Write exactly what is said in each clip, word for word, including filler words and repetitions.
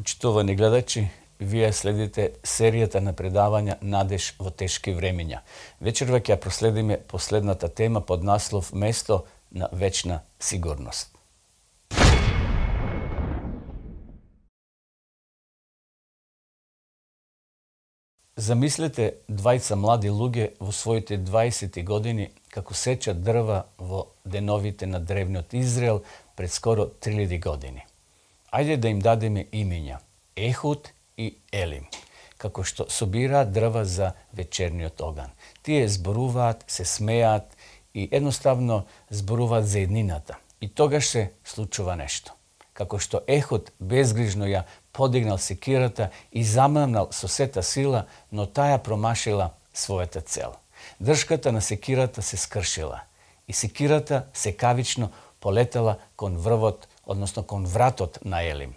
Почитувани гледачи, вие следите серијата на предавања Надеж во тешки времења. Вечерва ќе ја проследиме последната тема под наслов Место на вечна сигурност. Замислете двајца млади луѓе во своите дваесети години како сечат дрва во деновите на древниот Израел пред скоро три илјади години. Ајде да им дадеме имења Ехуд и Елим, како што собираат дрва за вечерниот оган. Тие зборуваат, се смеат и едноставно зборуваат за еднината. И тогаш се случува нешто. Како што Ехуд безгрижно ја подигнал секирата и замамнал со сета сила, но таа промашила својата цел. Дршката на секирата се скршила и секирата секавично полетела кон врвот, односно кон вратот на Елим.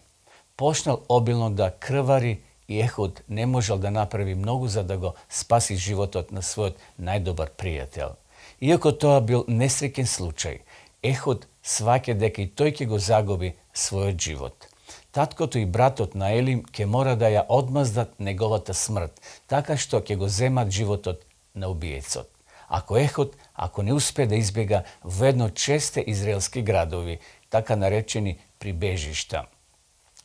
Почнал обилно да крвари и Ехуд не можел да направи многу за да го спаси животот на својот најдобар пријател. Иако тоа бил несреќен случај, Ехуд сваќа дека и тој ќе го загуби својот живот. Таткото и братот на Елим ќе мора да ја одмаздат неговата смрт, така што ќе го земат животот на убиецот. Ако Ехуд, ако не успе да избега во едно од шесте израелски градови, така наречени прибежишта,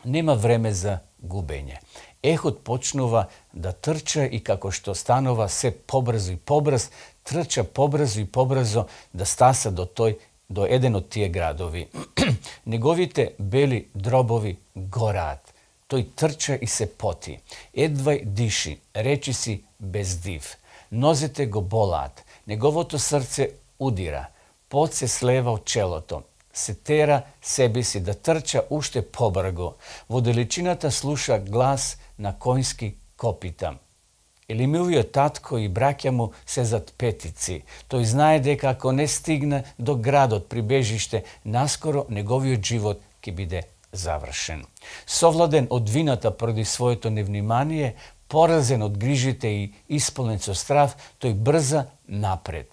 нема време за губење. Ехуд почнува да трча и како што станува се побрзо и побрз, трча побрзо и побрзо да стаса до тој до еден од тие градови. Неговите бели дробови гораат. Тој трча и се поти. Едвај диши, речи си без див. Нозете го болаат. Неговото срце удира. Пот се слева од челото. Се тера себе си да трча уште побрго. Во далечината слуша глас на коњски копита. Елимовиот татко и браќа му се зад петици. Тој знае дека ако не стигне до градот прибежиште, наскоро неговиот живот ќе биде завршен. Совладен од вината поради своето невнимание, поразен од грижите и исполнен со страв, тој брза напред.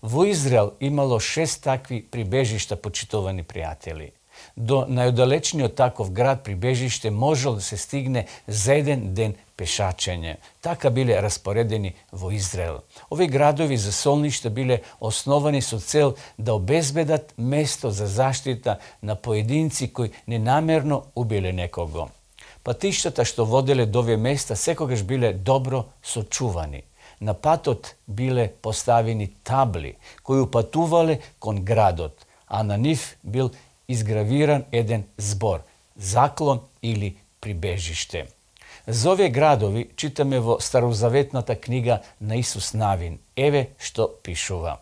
Во Израел имало шест такви прибежишта, почитувани пријатели. До најодалечниот таков град прибежиште можел да се стигне за еден ден пешачење. Така биле распоредени во Израел. Овие градови за солништа биле основани со цел да обезбедат место за заштита на поединци кои ненамерно убиле некого. Патиштата што воделе до овие места секогаш биле добро сочувани. На патот биле поставени табли кои упатувале кон градот, а на нив бил изгравиран еден збор – заклон или прибежиште. За овие градови читаме во старозаветната книга на Исус Навин. Еве што пишува.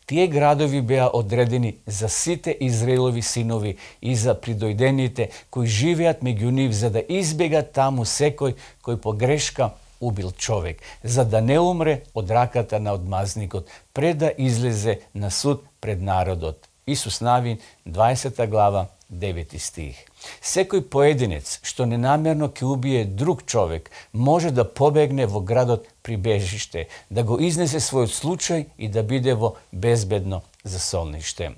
Тие градови беа одредени за сите Израелови синови и за придојдените кои живеат меѓу нив, за да избегат таму секој кој по грешка убил човек, за да не умре од раката на одмазникот, пред да излезе на суд пред народот. Исус Навин, дваесета глава, девети стих. Секој поединец што ненамерно ќе убие друг човек може да побегне во градот прибежиште, да го изнесе својот случај и да биде во безбедно засолниште.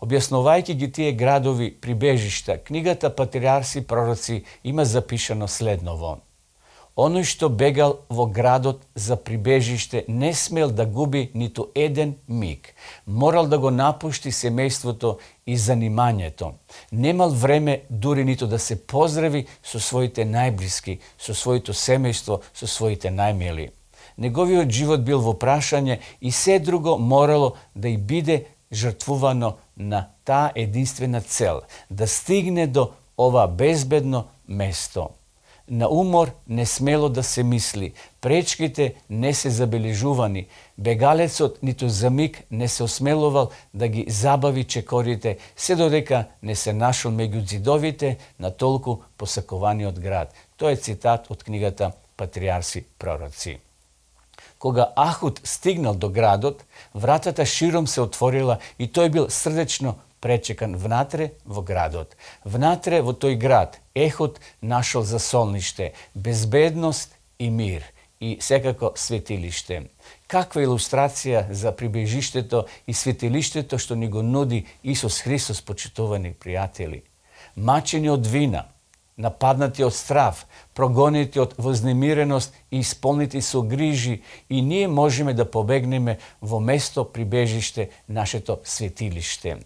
Објаснувајќи ги тие градови прибежишта, книгата Патриарси пророци има запишано следново. Оној што бегал во градот за прибежиште не смел да губи ниту еден миг. Морал да го напушти семејството и занимањето. Немал време дури ниту да се поздрави со своите најблиски, со своето семејство, со своите најмили. Неговиот живот бил во прашање и се друго морало да и биде жртвувано на таа единствена цел, да стигне до ова безбедно место. На умор не смело да се мисли, пречките не се забележувани, бегалецот ниту за миг не се осмелувал да ги забави чекорите, се додека не се нашол меѓу ѕидовите на толку посакуваниот град. Тоа е цитат од книгата Патриарси пророци. Кога Ахуд стигнал до градот, вратата широм се отворила и тој бил срдечно пречекан внатре во градот. Внатре во тој град Ехуд нашол засолниште, безбедност и мир и секако светилиште. Каква илустрација за прибежиштето и светилиштето што ни го нуди Исус Христос, почитувани пријатели. Мачени од вина, нападнати од страв, прогонети од вознемиреност и исполнети со грижи, и ние можеме да побегнеме во место прибежиште, нашето светилиште.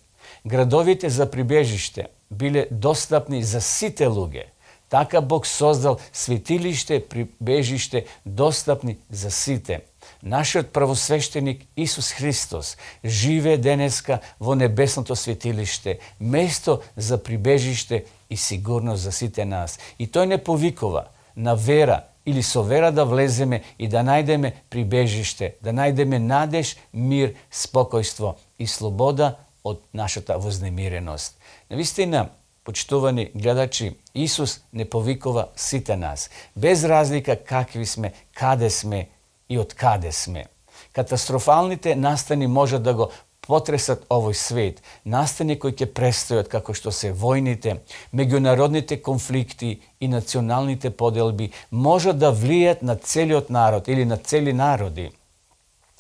Градовите за прибежиште биле достапни за сите луѓе. Така Бог создал светилиште, прибежиште достапни за сите. Нашиот првосвещеник Исус Христос живее денеска во небесното светилиште, место за прибежиште и сигурност за сите нас. И тој не повикува на вера или со вера да влеземе и да најдеме прибежиште, да најдеме надеж, мир, спокојство и слобода од нашата вознемиреност. Навистина, почитувани гледачи, Исус не повикува сите нас, без разлика какви сме, каде сме и од каде сме. Катастрофалните настани можат да го потресат овој свет, настани кои ќе престојат како што се војните, меѓународните конфликти и националните поделби можат да влијат на целиот народ или на цели народи.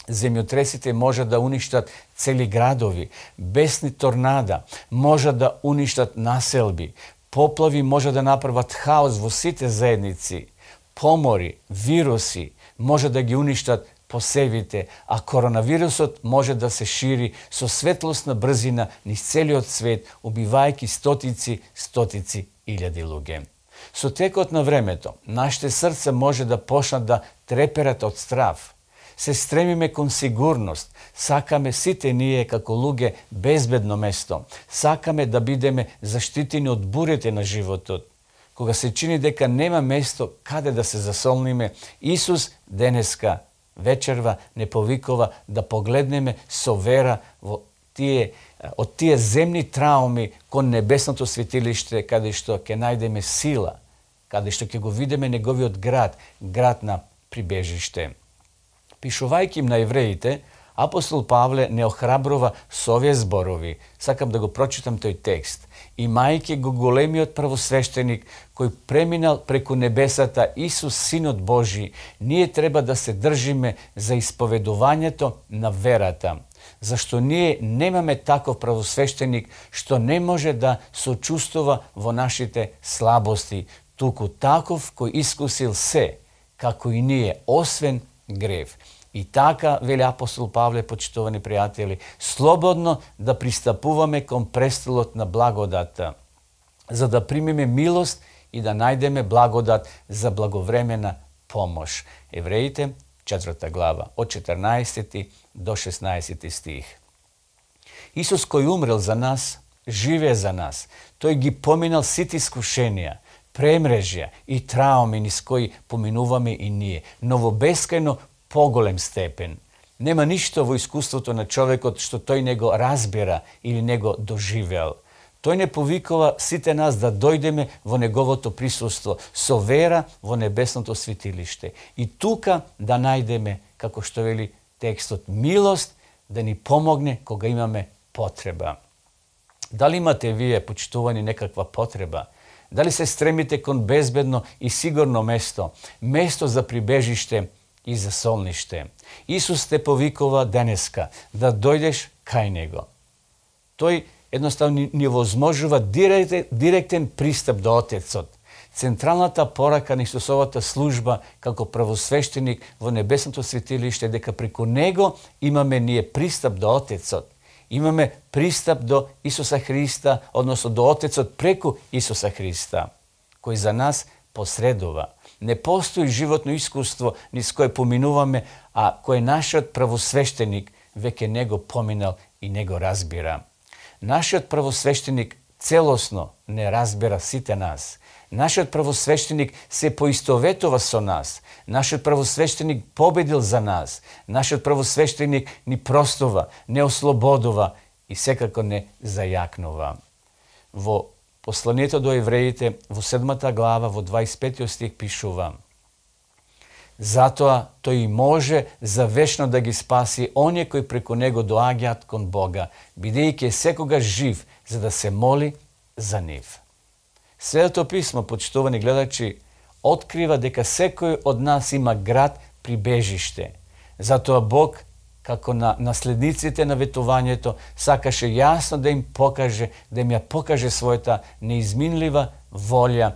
Земјотресите можат да уништат цели градови, бесни торнада можат да уништат населби, поплави можат да направат хаос во сите заедници, помори, вируси може да ги уништат посевите, а коронавирусот може да се шири со светлосна брзина низ целиот свет, убивајќи стотици, стотици илјади луѓе. Со текот на времето, нашите срца може да почнат да треперат од страв. Се стремиме кон сигурност, сакаме сите ние како луѓе безбедно место, сакаме да бидеме заштитени од бурите на животот. Кога се чини дека нема место каде да се засолниме, Исус денеска вечерва не повикува да погледнеме со вера во тие, од тие земни трауми кон небесното светилиште, каде што ќе најдеме сила, каде што ќе го видиме неговиот град, град на прибежиште. Пишувајќи им на евреите, апостол Павле не охрабрува со овие зборови. Сакам да го прочитам тој текст. Имајќи го големиот првосвещеник кој преминал преку небесата, Исус Синот Божи, ние треба да се држиме за исповедувањето на верата. Зашто ние немаме таков првосвещеник што не може да сочувствува во нашите слабости, туку таков кој искусил се, како и ние, освен грев. И така, вели апостол Павле, почитувани пријатели, слободно да пристапуваме кон престолот на благодата, за да примеме милост и да најдеме благодат за благовремена помош. Евреите, четврта глава, од четрнаесети до шеснаесети стих. Исус кој умрел за нас, живее за нас. Тој ги поминал сите искушенија, премрежја и трауми низ кои поминуваме и ние, но во бескајно поголем степен. Нема ништо во искуството на човекот што тој не го разбира или не го доживел. Тој не повикува сите нас да дојдеме во неговото присуство со вера во небесното светилиште и тука да најдеме, како што вели текстот, милост да ни помогне кога имаме потреба. Дали имате вие, почитувани, некаква потреба? Дали се стремите кон безбедно и сигурно место, место за прибежиште и за солниште? Исус те повикува денеска да дојдеш кај Него. Тој едноставно ни возможува директен, директен пристап до Отецот. Централната порака на Исусовата служба како првосвещеник во небесното светилиште дека преку Него имаме ние пристап до Отецот. Имаме пристап до Исуса Христа, односно до Отецот преку Исуса Христа, кој за нас посредува. Не постои животно искуство низ кое поминуваме, а кој нашиот првосвещеник веќе не го поминал и не го разбира. Нашиот првосвещеник целосно не разбира сите нас. Нашиот првосвещеник се поистоветува со нас. Нашиот првосвещеник победил за нас. Нашиот првосвещеник ни простува, не ослободува и секако не зајакнува. Во посланието до евреите, во седмата глава, во дваесет петиот стих пишува: затоа тој и може за вечно да ги спаси оние кои преку него доаѓаат кон Бога, бидејќи е секогаш жив за да се моли за нив. Светото писмо, почитувани гледачи, открива дека секој од нас има град прибежиште. Затоа Бог, како на наследниците на ветувањето, сакаше јасно да им покаже, да им ја покаже својата неизминлива волја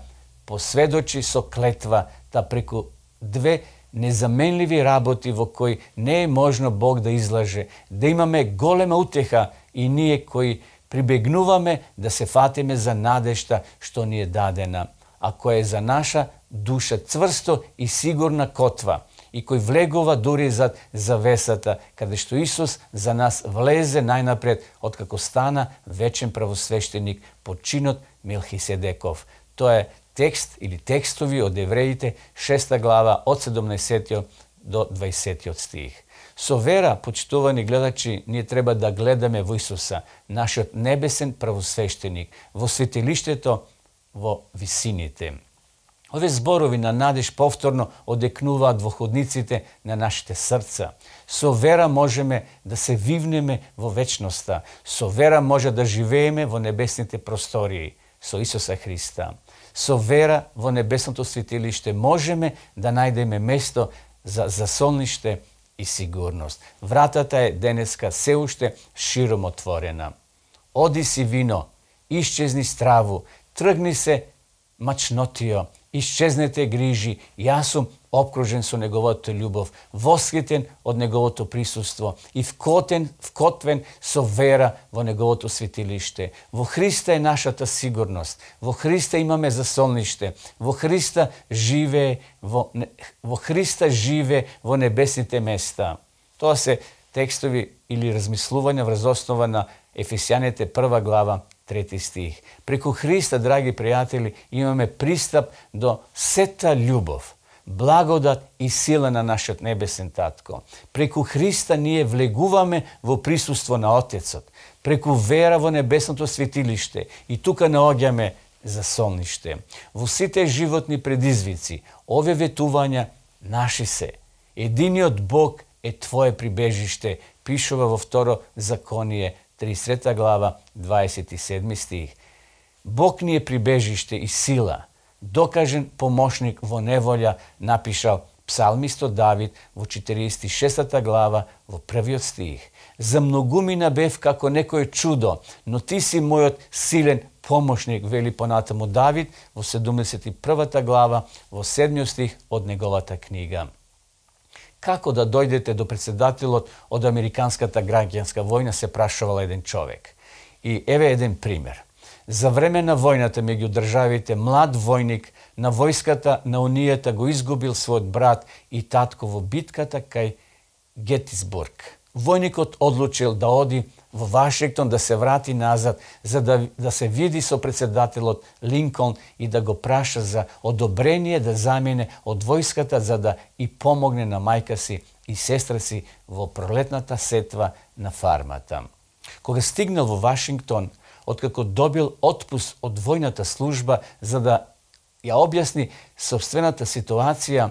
посведочи со клетва да преку две незаменливи работи во кои не е можно Бог да излаже, да имаме голема утеха и ние кои прибегнуваме да се фатиме за надежта што ни е дадена, а која е за наша душа цврсто и сигурна котва, и кој влегува дури зад завесата, каде што Исус за нас влезе најнапред, откако стана вечен правосвещеник по чинот Мелхиседеков. Тоа е текст или текстови од Евреите, шеста глава, од седумнаесеттиот до дваесеттиот стих. Со вера, почитувани гледачи, ние треба да гледаме во Исуса, нашиот небесен правосвещеник, во светилиштето во висините. Овие зборови на надеж повторно одекнуваат во ходниците на нашите срца. Со вера можеме да се вивнеме во вечноста. Со вера може да живееме во небесните простории со Исуса Христа. Со вера во небесното светилиште можеме да најдеме место за засолниште и сигурност. Вратата е денеска се уште широм отворена. Оди си вино, исчезни страву, тргни се мачнотио, исчезнете грижи, јас сум обкружен со неговата љубов, восхитен од неговото присуство и вкотен, вкотвен со вера во неговото светилиште. Во Христа е нашата сигурност, во Христа имаме засолниште, во Христа живее во, во Христа живее во небесните места. Тоа се текстови или размислувања врз основа на Ефесјаните прва глава, трети стих. Преку Христа, драги пријатели, имаме пристап до сета љубов, благодат и сила на нашиот небесен татко. Преку Христа ние влегуваме во присуство на Отецот. Преку вера во небесното светилиште и тука наоѓаме засолниште. Во сите животни предизвици, овие ветувања наши се. Единиот Бог е твое прибежиште, пишува во второ Законие, тридесета глава, дваесет и седми стих. Бог ни е прибежиште и сила, докажен помошник во неволја, напишал псалмистот Давид во четириесет и шестата глава, во првиот стих. За многумина бев како некој чудо, но ти си мојот силен помошник, вели понатаму Давид во седумдесет и првата глава, во седмиот стих од неговата книга. Како да дојдете до председателот од Американската граѓанска војна, се прашувал еден човек. И еве еден пример. За време на војната меѓу државите, млад војник на војската на Унијата го изгубил својот брат и татко во битката кај Гетисбург. Војникот одлучил да оди во Вашингтон, да се врати назад, за да, да се види со председателот Линколн и да го праша за одобрение да замине од војската, за да и помогне на мајка си и сестра си во пролетната сетва на фармата. Кога стигнал во Вашингтон, откако добил отпуст од војната служба за да ја објасни собствената ситуација,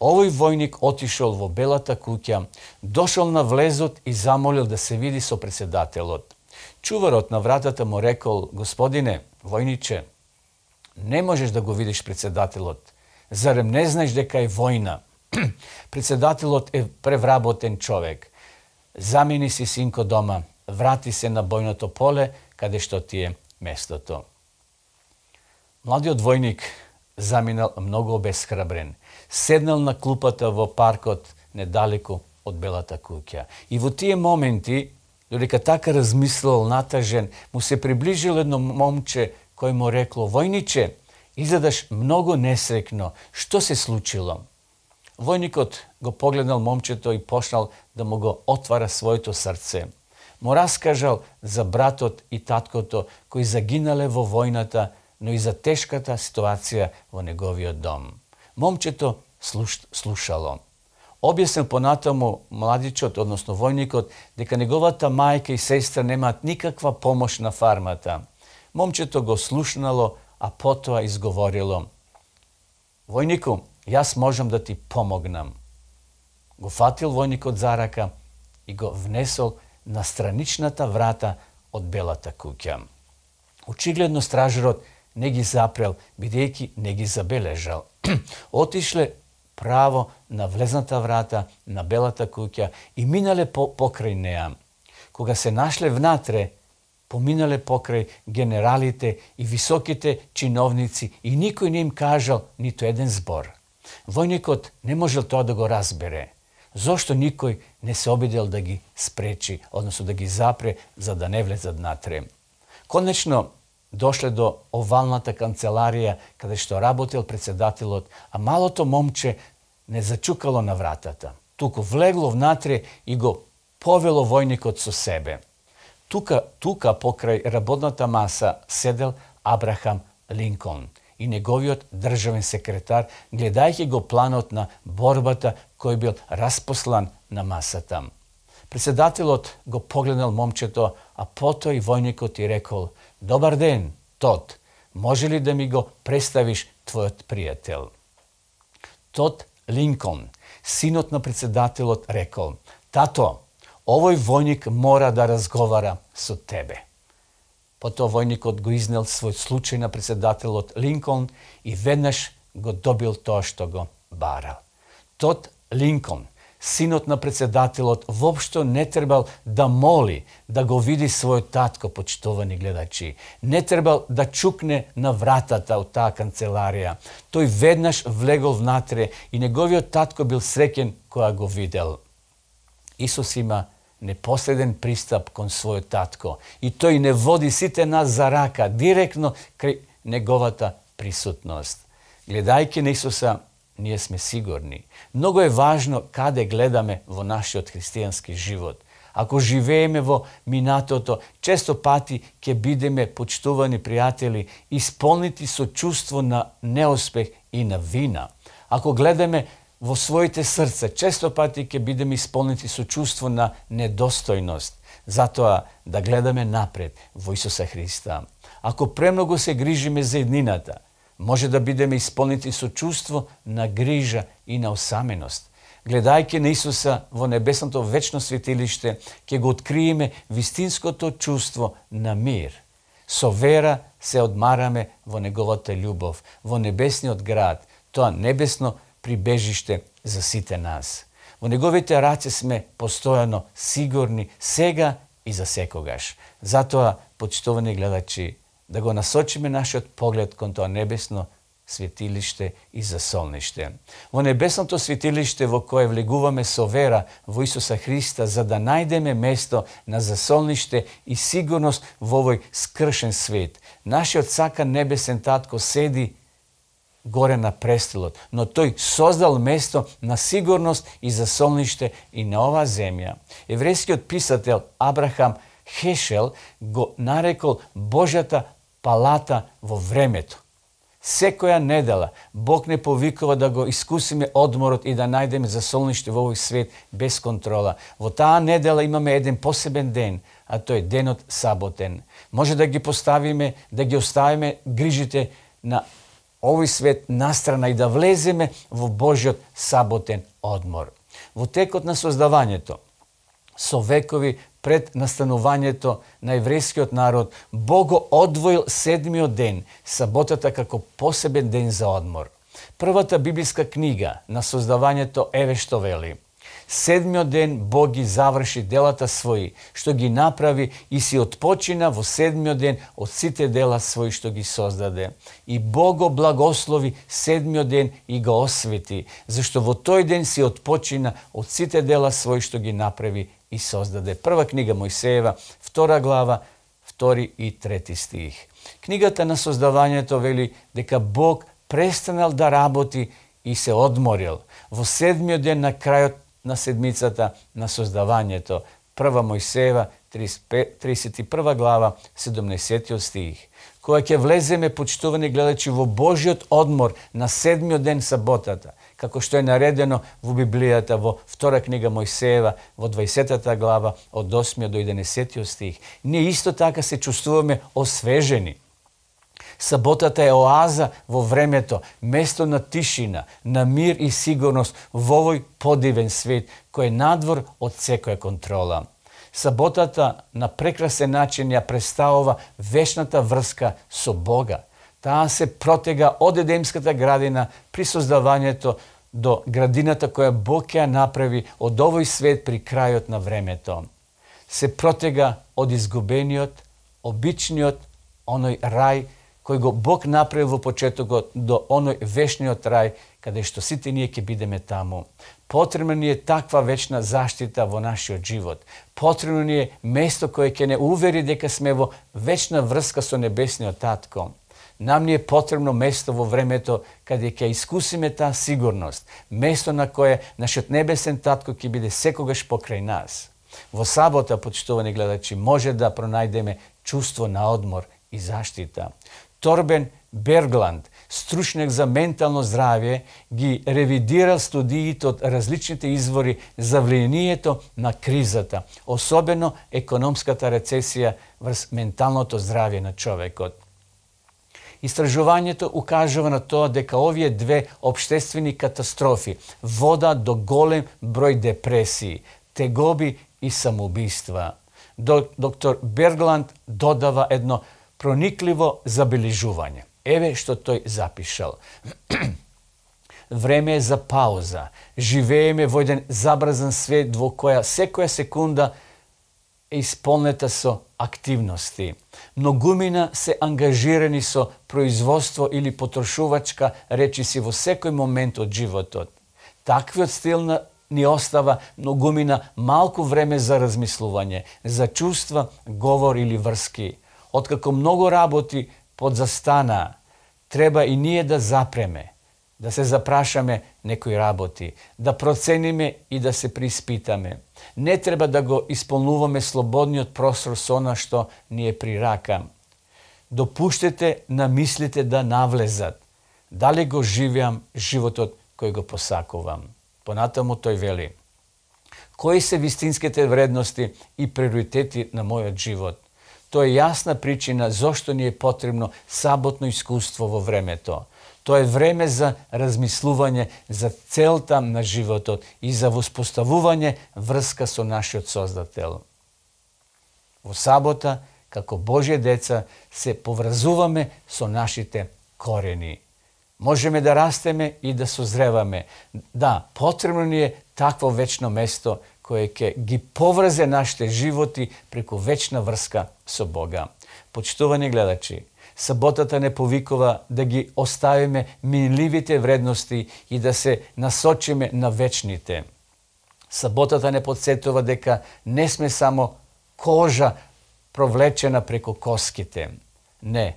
овој војник отишол во Белата куќа, дошол на влезот и замолил да се види со председателот. Чуварот на вратата му рекол: "Господине, војниче, не можеш да го видиш председателот. Зарем не знаеш дека е војна? Председателот е превработен човек. Замени си синко дома, врати се на бојното поле, каде што ти е местото." Младиот војник заминал многу обесхрабрен. Седнал на клупата во паркот недалеку од Белата куќа. И во тие моменти, додека така размислувал натажен, му се приближил едно момче кој му рекло: "Војниче, изгледаш многу несрекно. Што се случило?" Војникот го погледнал момчето и почнал да му го отвара своето срце. Му раскажал за братот и таткото кои загинале во војната, но и за тешката ситуација во неговиот дом. Момчето слуш, слушало. Објаснил понатаму младичот, односно војникот, дека неговата мајка и сестра немаат никаква помош на фармата. Момчето го слушнало, а потоа изговорило: "Војнику, јас можам да ти помогнам." Го фатил војникот за рака и го внесол на страничната врата од Белата куќа. Очигледно стражерот не ги запрел, бидејќи не ги забележал. Отишле право на влезната врата на Белата куќа и минале по, покрај неа. Кога се нашле внатре, поминале покрај генералите и високите чиновници и никој не им кажал ниту еден збор. Војникот не можел тоа да го разбере. Зошто никој не се обидел да ги спречи, односно да ги запре, за да не влезат натре? Конечно, дошле до овалната канцеларија, каде што работел председателот, а малото момче не зачукало на вратата. Туку влегло внатре и го повело војникот со себе. Тука, тука покрај работната маса седел Абрахам Линколн и неговиот државен секретар, гледајќи го планот на борбата кој бил распослан на масата. Председателот го погледнал момчето, а потоа и војникот и рекол: "Добар ден, Тод, може ли да ми го представиш твојот пријател?" Тод Линколн, синот на председателот, рекол: "Тато, овој војник мора да разговара со тебе." Потоа војникот го изнел свој случај на председателот Линколн и веднаш го добил тоа што го барал. Тод Линколн, синот на председателот, воопшто не требал да моли да го види својот татко, почитувани гледачи. Не требал да чукне на вратата од таа канцеларија. Тој веднаш влегол внатре и неговиот татко бил среќен кога го видел. Исус има непоследен пристап кон својот татко и тој не води сите нас за рака директно кај неговата присутност. Гледајќи на Исуса, ние сме сигурни. Многу е важно каде гледаме во нашиот христијански живот. Ако живееме во минатото, често пати ќе бидеме, почитувани пријатели, исполнити со чувство на неуспех и на вина. Ако гледаме во своите срца, често пати ќе бидеме исполнити со чувство на недостојност. Затоа да гледаме напред во Исуса Христа. Ако премногу се грижиме за еднината, може да бидеме исполнити со чувство на грижа и на осаменост. Гледајќи на Исуса во небесното вечно светилиште, ќе го откриеме вистинското чувство на мир. Со вера се одмараме во неговата љубов, во небесниот град, тоа небесно прибежиште за сите нас. Во неговите раце сме постојано сигурни сега и за секогаш. Затоа, почитувани гледачи, да го насочиме нашиот поглед кон тоа небесно светилиште и засолниште. Во небесното светилиште во кое влегуваме со вера во Исуса Христа, за да најдеме место на засолниште и сигурност во овој скршен свет. Нашиот сакан небесен татко седи горе на престолот, но тој создал место на сигурност и засолниште и на оваа земја. Еврејскиот писател Абрахам Хешел го нарекол Божјата палата во времето. Секоја недела Бог не повикува да го искусиме одморот и да најдеме засолниште во овој свет без контрола. Во таа недела имаме еден посебен ден, а тој е денот саботен. Може да ги поставиме, да ги оставиме грижите на овој свет настрана и да влеземе во Божјот саботен одмор. Во текот на создавањето, со векови пред настанувањето на еврејскиот народ, Бог го одвоил седмиот ден, саботата, како посебен ден за одмор. Првата библиска книга на создавањето еве што вели: седмиот ден Бог ги заврши делата своји, што ги направи, и си отпочина во седмиот ден од сите дела своји што ги создаде. И Бог го благослови седмиот ден и го освети, зашто во тој ден си отпочина од сите дела своји што ги направи и создаде. Прва книга Мојсеева, втора глава, втори и трети стих. Книгата на создавањето вели дека Бог престанал да работи и се одморил во седмиот ден на крајот на седмицата на создавањето. Прва Мојсеева, тридесет и прва глава, седумнаесеттиот стих. Кога ќе влеземе, почитувани гледачи, во Божјот одмор на седмиот ден саботата, како што е наредено во Библијата, во втора книга Мојсеева, во дваесеттата глава, од осмиот до единаесеттиот стих, ние исто така се чувствуваме освежени. Саботата е оаза во времето, место на тишина, на мир и сигурност во овој подивен свет, кој е надвор од секоја контрола. Саботата на прекрасен начин ја представува вечната врска со Бога. Таа се протега од Едемската градина при создавањето до градината која Бог ја направи од овој свет при крајот на времето. Се протега од изгубениот обичниот оној рај кој го Бог направил во почетокот до оној вечниот рај каде што сите ние ќе бидеме таму. Потребна ни е таква вечна заштита во нашиот живот. Потребно ни е место кое ќе не увери дека сме во вечна врска со небесниот Татко. Нам ни е потребно место во времето каде ќе искусиме таа сигурност, место на кое нашиот небесен Татко ќе биде секогаш покрај нас. Во сабота, почитувани гледачи, може да пронајдеме чувство на одмор и заштита. Торбен Бергланд, стручнjak за ментално здравје, ги ревидирал студиите од различните извори за влијанието на кризата, особено економската рецесија врз менталното здравје на човекот. Истражувањето укажува на тоа дека овие две општествени катастрофи водат до голем број депресии, тегоби и самоубиства. Доктор Бергланд додава едно проникливо забележување. Еве што тој запишал. Време е за пауза. Живееме во еден забрзан свет во која секоја секунда е исполнета со активности. Многумина се ангажирани со производство или потрошувачка речиси во секој момент од животот. Таквиот стил на ни остава многумина малку време за размислување, за чувства, говор или врски. Откако многу работи подзастана, треба и ние да запреме, да се запрашаме некои работи, да процениме и да се приспитаме. Не треба да го исполнуваме слободниот простор со она што ни е при рака. Допуштете на мислите да навлезат. Дали го живеам животот кој го посакувам? Понатаму тој вели: кои се вистинските вредности и приоритети на мојот живот? Тоа е јасна причина зошто ни е потребно саботно искуство во времето. Тоа е време за размислување за целта на животот и за воспоставување врска со нашиот Создател. Во сабота, како Божји деца, се поврзуваме со нашите корени. Можеме да растеме и да созреваме. Да, потребно ни е такво вечно место кое ќе ги поврзе нашите животи преку вечна врска со Бога. Почитувани гледачи, саботата не повикува да ги оставиме минливите вредности и да се насочиме на вечните. Саботата не подсетува дека не сме само кожа провлечена преку коските. Не,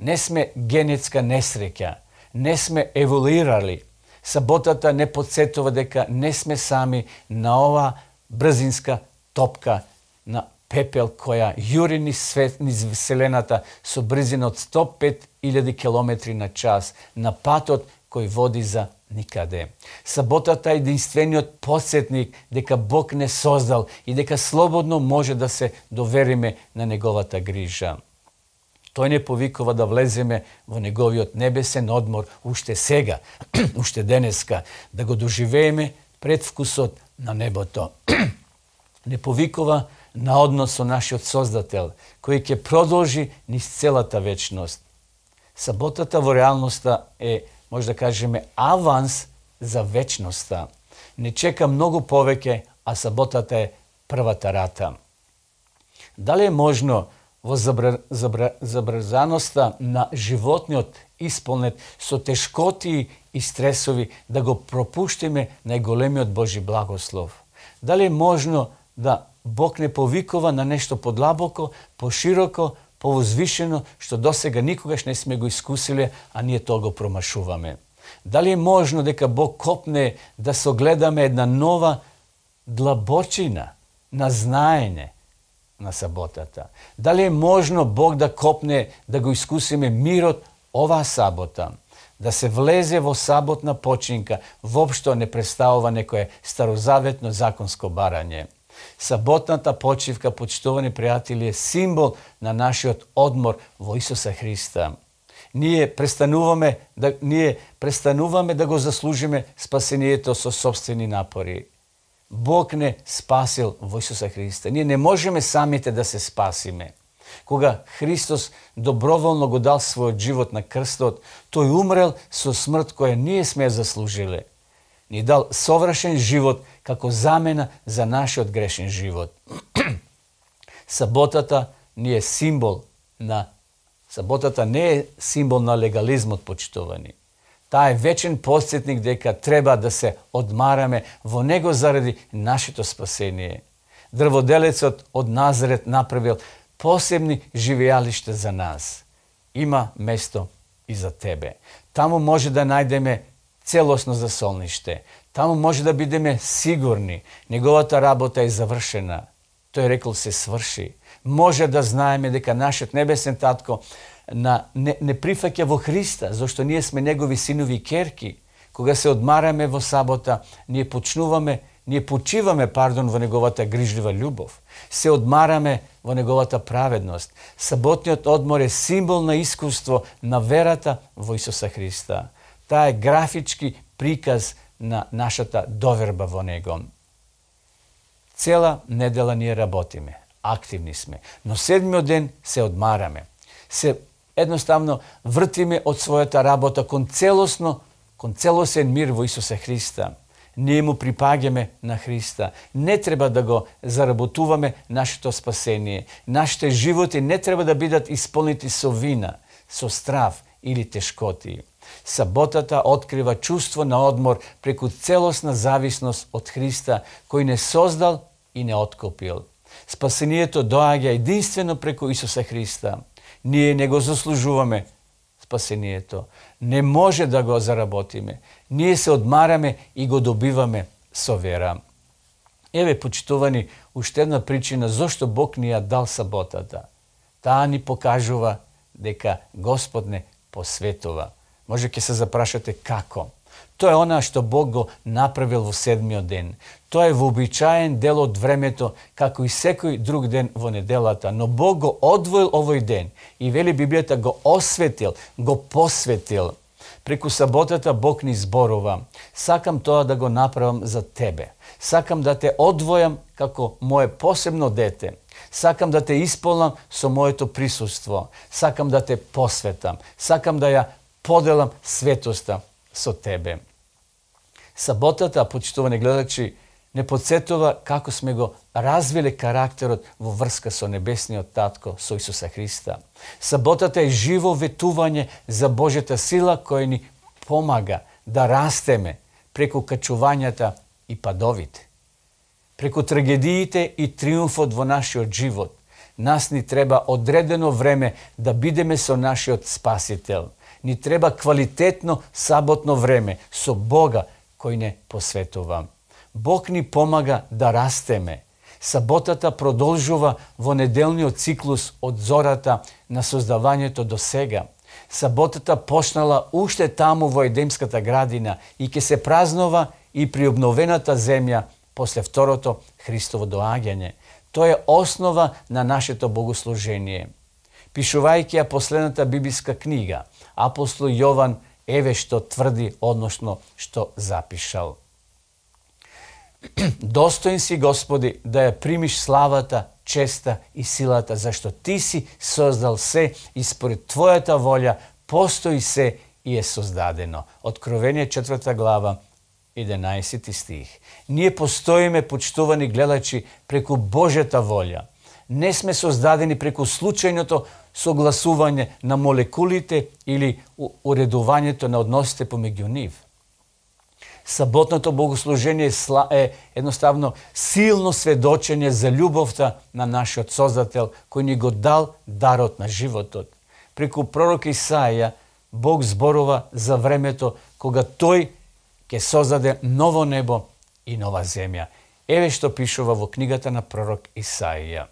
не сме генетска несреќа, не сме еволуирали. Саботата не подсетува дека не сме сами на ова брзинска топка на пепел која јури низ свет, низ вселената со брзина од сто и пет илјади километри на час на патот кој води за никаде. Саботата е единствениот подсетник дека Бог не создал и дека слободно може да се довериме на неговата грижа. Тој не повикува да влеземе во неговиот небесен одмор уште сега, уште денеска, да го доживееме предвкусот на небото. Не повикува на однос со нашиот Создател, кој ќе продолжи низ целата вечност. Саботата во реалноста е, може да кажеме, аванс за вечноста. Не чека многу повеќе, а саботата е првата рата. Дали е можно во забр... забр... забрзаноста на животниот исполнет со тешкоти и стресови да го пропуштиме најголемиот Божи благослов? Дали е можно да Бог не повикува на нешто подлабоко, пошироко, повозвишено, што досега никогаш не сме го искусиле, а ние тоа го промашуваме? Дали е можно дека Бог копне да согледаме една нова длабочина на знаење на саботата? Дали е можно Бог да копне да го искусиме мирот оваа сабота? Да се влезе во саботна починка воопшто не представува некое старозаветно законско барање. Саботната почивка, почитувани пријатели, е символ на нашиот одмор во Исуса Христа. Ние престануваме да ние престануваме да го заслужиме спасението со собствени напори. Бог не спасил во Исуса Христа. Ние не можеме самите да се спасиме. Кога Христос доброволно го дал својот живот на крстот, тој умрел со смрт која ние сме заслужиле. Ни дал совршен живот како замена за нашиот грешен живот. Саботата не е символ на саботата, не е символ на легализмот, почитувани. Таа е вечен подсетник дека треба да се одмараме во него заради нашето спасение. Дрводелецот од Назарет направил посебни живеалишта за нас. Има место и за тебе. Таму може да најдеме целосно засолниште. Таму може да бидеме сигурни. Неговата работа е завршена. Тој рекол се сврши. Може да знаеме дека нашиот небесен татко на, не, не прифаќа во Христа, зашто ние сме негови синови и керки. Кога се одмараме во сабота, ние почнуваме, ние почиваме, пардон, во неговата грижлива љубов. Се одмараме во неговата праведност. Саботниот одмор е символ на искуство на верата во Исуса Христа. Таа е графички приказ на нашата доверба во него. Цела недела ние работиме, активни сме, но седмиот ден се одмараме. Се едноставно вртиме од својата работа кон целосно, кон целосен мир во Исуса Христа. Ние му припаѓаме на Христа. Не треба да го заработуваме нашето спасение. Нашите животи не треба да бидат исполнети со вина, со страв или тешкоти. Саботата открива чувство на одмор преку целосна зависност од Христа, кој не создал и не откупил. Спасението доаѓа единствено преку Исуса Христа. Ние не го заслужуваме спасението. Не може да го заработиме. Ние се одмараме и го добиваме со вера. Еве, почитувани, уште една причина зошто Бог ни ја дал саботата. Таа ни покажува дека Господ не посветува. Може ќе се запрашате како. Тоа е она што Бог го направил во седмиот ден. Тоа е вообичаен дел од времето, како и секој друг ден во неделата, но Бог го одвоил овој ден и вели Библијата го осветил, го посветил. Преку саботата Бог ни зборува. Сакам тоа да го направам за тебе. Сакам да те одвојам како мое посебно дете. Сакам да те исполнам со моето присуство. Сакам да те посветам. Сакам да ја поделам светоста со тебе. Саботата, почитувани гледачи, не подсетува како сме го развиле карактерот во врска со небесниот татко, со Исуса Христа. Саботата е живо ветување за Божјата сила која ни помага да растеме преку качувањата и падовите. Преку трагедиите и триумфот во нашиот живот. Нас ни треба одредено време да бидеме со нашиот Спасител. Ни треба квалитетно саботно време со Бога кој не посветува. Бог ни помага да растеме. Саботата продолжува во неделниот циклус од зората на создавањето до сега. Саботата почнала уште таму во Едемската градина и ќе се празнува и при обновената земја после второто Христово доаѓање. Тоа е основа на нашето богослужение. Пишувајќи ја последната библиска книга, апостол Јован еве што тврди, односно што запишал. Достоин си, Господи, да ја примиш славата, честа и силата, зашто Ти си создал се и според Твојата волја постои се и е создадено. Откровение четврта глава, единаесети стих. Ние постоиме, почитувани гледачи, преку Божјата волја. Не сме создадени преку случајното согласување на молекулите или уредувањето на односите помеѓу нив. Саботното богослужение е едноставно силно сведочење за љубовта на нашиот Создател, кој ни го дал дарот на животот. Преку пророк Исаија, Бог зборува за времето кога Тој ќе создаде ново небо и нова земја. Еве што пишува во книгата на пророк Исаија.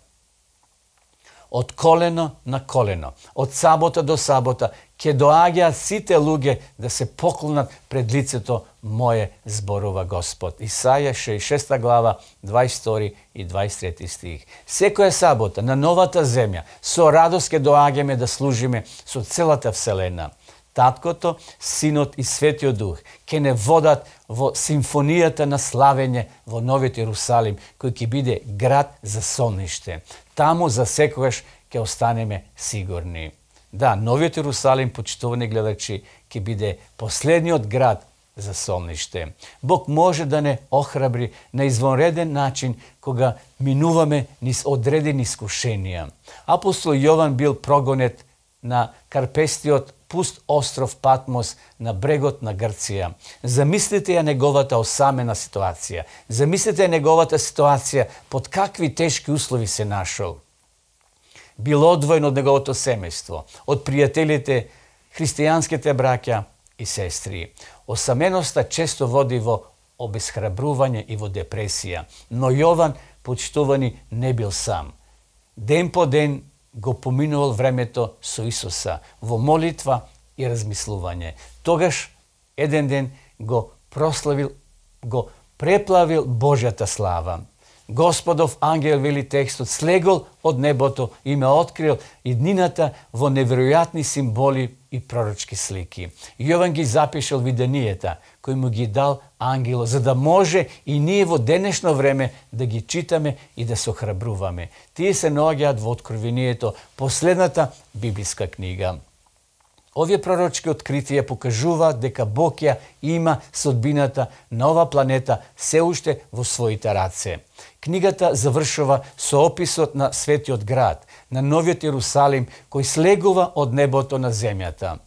Од колено на колено, од сабота до сабота, ќе доаѓаат сите луѓе да се поклонат пред лицето Мое, зборува Господ. Исаја шеесет и шеста глава, дваесет и втори и дваесет и трети стих. Секоја сабота на новата земја со радост ќе доаѓаме да служиме со целата вселена. Таткото, Синот и Светиот Дух ќе не водат во симфонијата на славење во Новиот Ерусалим, кој ќе биде град за сонниште. Таму за секогаш ќе останеме сигурни. Да, Новиот Ерусалим, почитувани гледачи, ќе биде последниот град за солниште. Бог може да не охрабри на извонреден начин кога минуваме низ одредени искушенија. Апостол Јован бил прогонет на карпестиот пуст остров Патмос на брегот на Грција. Замислите ја неговата осамена ситуација. Замислите ја неговата ситуација под какви тешки услови се нашол. Бил одвоен од неговото семејство, од пријателите, христијанските браќа и сестри. Осаменоста често води во обесхрабрување и во депресија, но Јован, почитувани, не бил сам. Ден по ден го поминувал времето со Исуса во молитва и размислување. Тогаш еден ден го прославил, го преплавил Божјата слава. Господов ангел, вели текстот, слегол од небото и ме открил иднината во неверојатни символи и пророчки слики. Јован ги запишал виденијата кои му ги дал ангело, за да може и ние во денешно време да ги читаме и да се охрабруваме. Тие се наоѓаат во Откровението, последната библиска книга. Овие пророчки откритија покажуваат дека Бог ја има судбината на ова планета се уште во своите раце. Книгата завршува со описот на светиот град, на новиот Иерусалим, кој слегува од небото на земјата.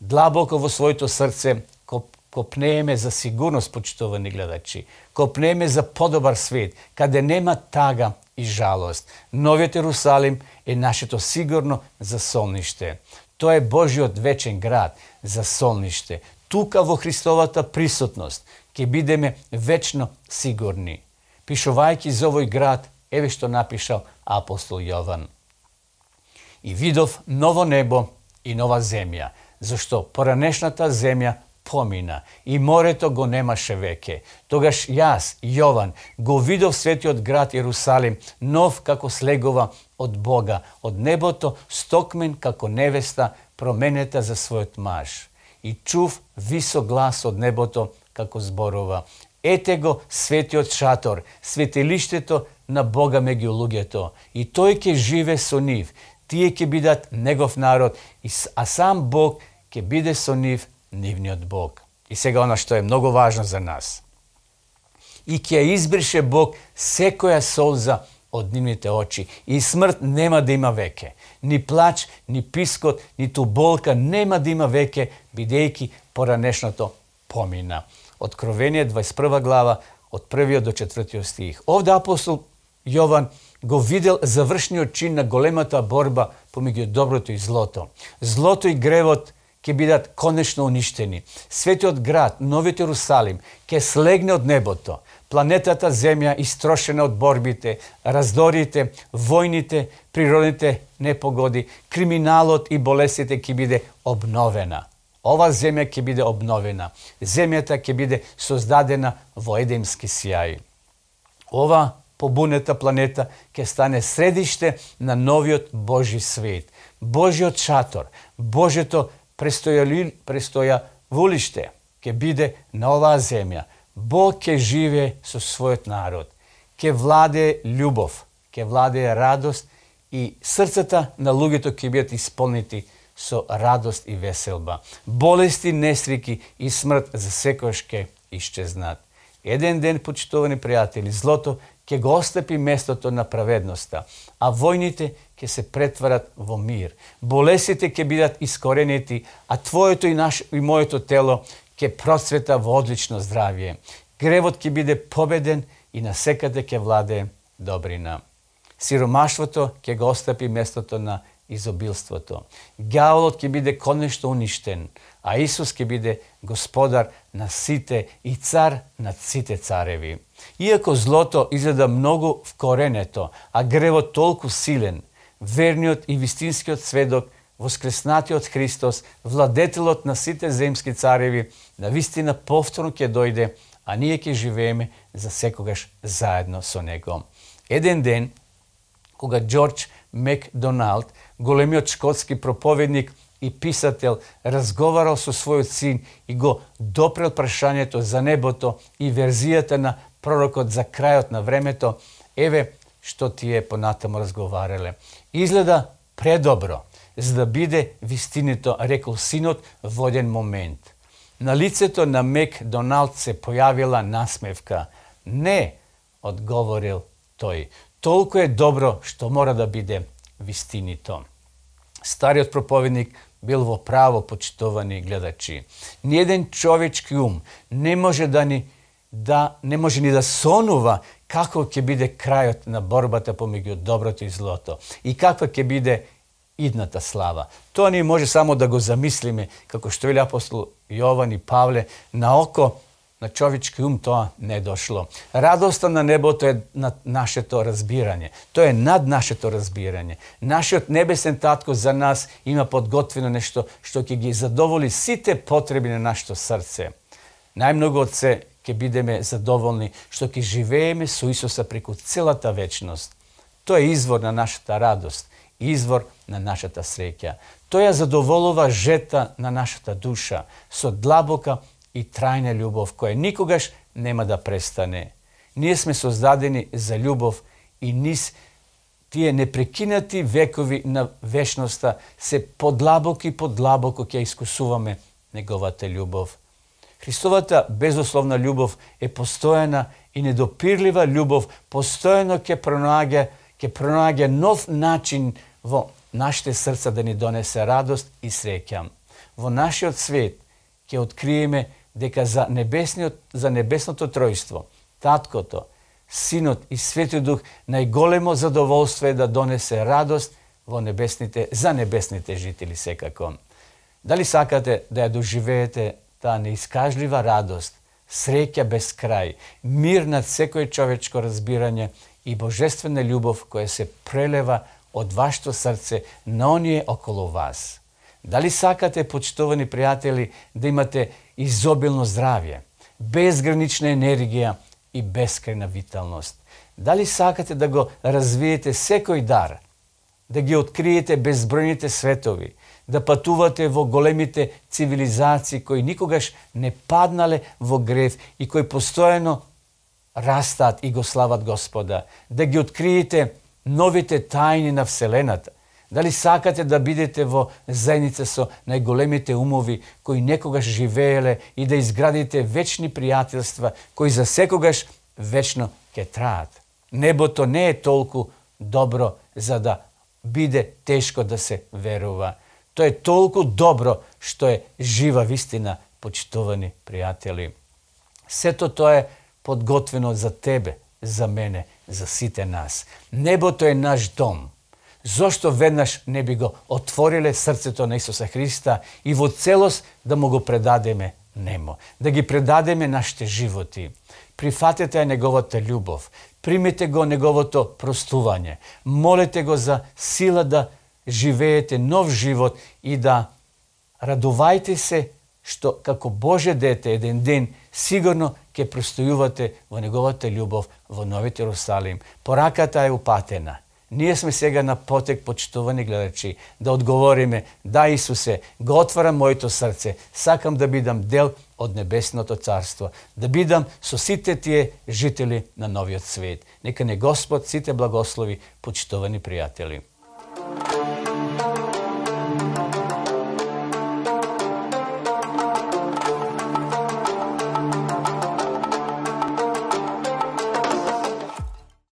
Длабоко во своето срце копнееме за сигурност, почитувани гледачи. Копнееме за подобар свет, каде нема тага и жалост. Новиот Иерусалим е нашето сигурно засолниште. Тоа е Божиот вечен град за солниште. Тука во Христовата присутност ќе бидеме вечно сигурни. Пишувајќи за овој град, еве што напишал апостол Јован. И видов ново небо и нова земја, зашто поранешната земја помина и морето го немаше веќе. Тогаш јас, Јован, го видов светиот град Иерусалим, нов како слегува од Бога, од небото, стокмен како невеста, променета за својот маж. И чув висок глас од небото како зборува: ете го светиот шатор, светилиштето на Бога меѓу луѓето, и тој ќе живе со нив, тие ќе бидат негов народ, а сам Бог ќе биде со нив, нивниот Бог. И сега она што е многу важно за нас. И ќе избрише Бог секоја солза од нивните очи, и смрт нема да има веќе. Ни плач, ни пискот, ниту болка нема да има веќе, бидејќи поранешното помина. Откровение дваесет и прва глава, од првиот до четвртиот стих. Овде апостол Јован го видел завршниот чин на големата борба помеѓу доброто и злото. Злото и гревот ќе бидат конечно уништени. Светиот град, новиот Иерусалим, ќе слегне од небото. Планетата Земја истрошена од борбите, раздорите, војните, природните непогоди, криминалот и болестите ќе биде обновена. Ова земја ќе биде обновена. Земјата ќе биде создадена во едемски сјај. Ова побунета планета ќе стане средиште на новиот Божи свет. Божиот шатор, Божето престојавулиште ќе биде на оваа земја. Бог ќе живее со својот народ. Ќе владее љубов, ќе владее радост и срцата на луѓето ќе бидат исполнети со радост и веселба. Болести, несреќи и смрт за секојаш ќе исчезнат. Еден ден, почитувани пријатели, злото ќе го остапи местото на праведноста, а војните ќе се претварат во мир. Болестите ќе бидат искоренети, а твоето и наше и моето тело ќе процвета во одлично здравје. Гревот ќе биде победен и насекаде ќе владее добрина. Сиромаштвото ќе го остапи местото на изобилството. Ѓаволот ќе биде конечно уништен, а Исус ќе биде господар на сите и цар над сите цареви. Иако злото изгледа многу вкоренето, а гревот толку силен, верниот и вистинскиот сведок, воскреснатиот Христос, владетелот на сите земски цареви, навистина повторно ќе дојде, а ние ќе живееме за секогаш заедно со него. Еден ден, кога Џорџ Макдоналд, големиот шкотски проповедник и писател, разговарал со својот син и го допрел прашањето за небото и верзијата на пророкот за крајот на времето, еве што тие понатаму разговарале. Изгледа предобро, за да биде вистинито, рекол синот во еден момент. На лицето на Мек Доналд се појавила насмевка. Не, одговорил тој. Толку е добро што мора да биде вистинито. Стариот проповедник бил во право, почитувани гледачи. Ниеден човечки ум не може да ни да не може ни да сонува како ќе биде крајот на борбата помеѓу доброто и злото и каква ќе биде идната слава. Тоа ни може само да го замислиме, како што вели апостол Јован и Павле, на око, на човечки ум тоа не е дошло. Радоста на небото е над нашето разбирање. Тоа е над нашето разбирање. Нашиот небесен татко за нас има подготвено нешто што ќе ги задоволи сите потреби на нашето срце. Најмногу од се ќе бидеме задоволни што ќе живееме со Исуса преку целата вечност. Тоа е извор на нашата радост, извор на нашата среќа. Тоа ја задоволува жета на нашата душа со длабока и трајна љубов која никогаш нема да престане. Ние сме создадени за љубов и низ тие непрекинати векови на вечноста се подлабоко и подлабоко ќе искусуваме неговата љубов. Христовата безусловна љубов е постојана и недопирлива љубов, постојано ќе пронаѓа, ќе пронаѓа нов начин во нашите срца да ни донесе радост и среќа. Во нашиот свет ќе откриеме дека за небесниот за небесното тројство, Таткото, Синот и Светиот Дух најголемо задоволство е да донесе радост во небесните за небесните жители секако. Дали сакате да ја доживеете таа неискажлива радост, среќа без крај, мир над секој човечко разбирање и божествена љубов која се прелева од вашето срце на оние околу вас? Дали сакате, почитувани пријатели, да имате изобилно здравје, безгранична енергија и бескрајна виталност? Дали сакате да го развиете секој дар, да ги откриете безбројните светови, да патувате во големите цивилизации кои никогаш не паднале во грев и кои постојано растат и го слават Господа, да ги откриете новите тајни на Вселената? Дали сакате да бидете во заедница со најголемите умови кои некогаш живееле и да изградите вечни пријателства кои за секогаш вечно ќе траат? Небото не е толку добро за да биде тешко да се верува. Тоа е толку добро што е жива вистина, почитувани пријатели. Сето тоа е подготвено за тебе, за мене, за сите нас. Небото е наш дом. Зошто веднаш не би го отвориле срцето на Исуса Христа и во целост да му го предадеме нему, да ги предадеме нашите животи? Прифатете ја неговата љубов, примете го неговото простување, молете го за сила да живеете нов живот и да радувајте се што како Божје дете еден ден сигурно ќе простојувате во неговата љубов во Новиот Ерусалим. Пораката е упатена. Ние сме сега на потек, почитувани гледачи, да одговориме: да, Исусе, го отварам моето срце, сакам да бидам дел од Небесното царство, да бидам со сите тие жители на новиот свет. Нека не Господ сите благослови, почитувани пријатели.